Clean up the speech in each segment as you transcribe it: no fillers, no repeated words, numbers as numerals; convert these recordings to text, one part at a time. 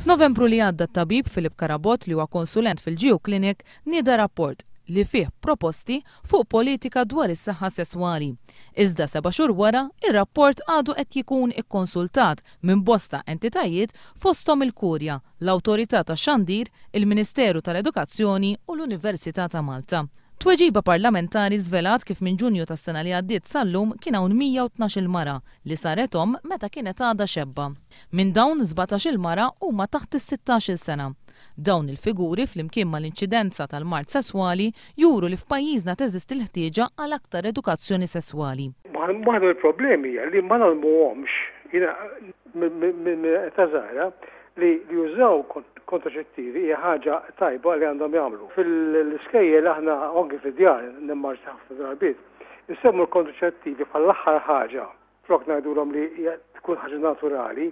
F'Novembru li għadda t-tabib Philip Carabott li huwa konsulent fil-GU Clinic nieda rapport li fih proposti fuq politika dwar is-saħħa sesswali. Iżda seba' xhur wara, ir-rapport għadu qed jikun ikkonsultat minn bosta entitajiet fosthom il-Kurja, l-Awtorità tax-Xandir, il-Ministeru tal-Edukazzjoni u l-Università ta' Malta. Tweġiba parlamentari żvelat kif minn Ġunju tas-sena li għaddiet sal-lum kien hawn 112-il mara li saret omm meta kienet għadha xebba. Minn dawn, 17-il mara huma taħt is-sittax-il sena. Dawn il-figuri flimkien mal-inċidenza tal-mard sesswali juru li f'pajjiżna teżisti l-ħtieġa għal aktar edukazzjoni sesswali. Waħda mill-problemi hija li ma ngħallmuhomx, jiena minn età żgħira, li jużaw kontraċettivi hija ħaġa tajba li għandhom jagħmlu. Fil-iskejjel aħna u anki fid-djar nimmarġna ħafna drabiet, insemmu l-kontraċettivi bħala l-aħħar ħaġa flok ngħidulhom li hija tkun ħaġa naturali.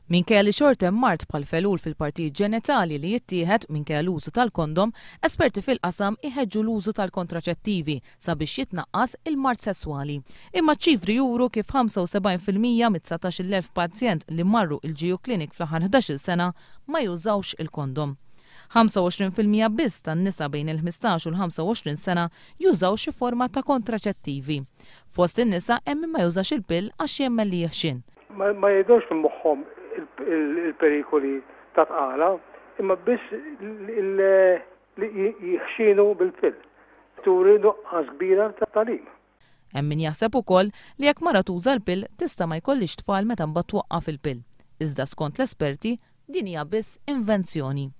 Minkejja li xorta hemm mard bħal felul fil-partijiet ġenitali li jittieħed minkejja l-użu tal-kondom, esperti fil-qasam iħeġġu l-użu tal-kontraċettivi sabiex jitnaqqas il-mard sesswali. Imma ċ-ċifri juru kif 75% mit-19,000 pazjent li marru il-GU Clinic fl-aħħar 11-il sena ma jużawx il-kondom. 25% biss tan-nisa bejn il-15 u l-25 sena jużaw xi forma ta' kontraċettivi. Fost in-nisa hemm min ma jużax il-pill għax jemmen li jeħxien. Ma jgħidux minn moħħhom il-perikoli ta' tqala, imma biss li jħxinu bil-pill. Turi nuqqas kbira ta' tagħlim. Hemm min jaħseb ukoll li jekk mara tuża l-pill tista' ma jkollhiex tfal meta mbagħad twaqqaf il-pill. Iżda skont l-esperti din hija biss invenzjoni.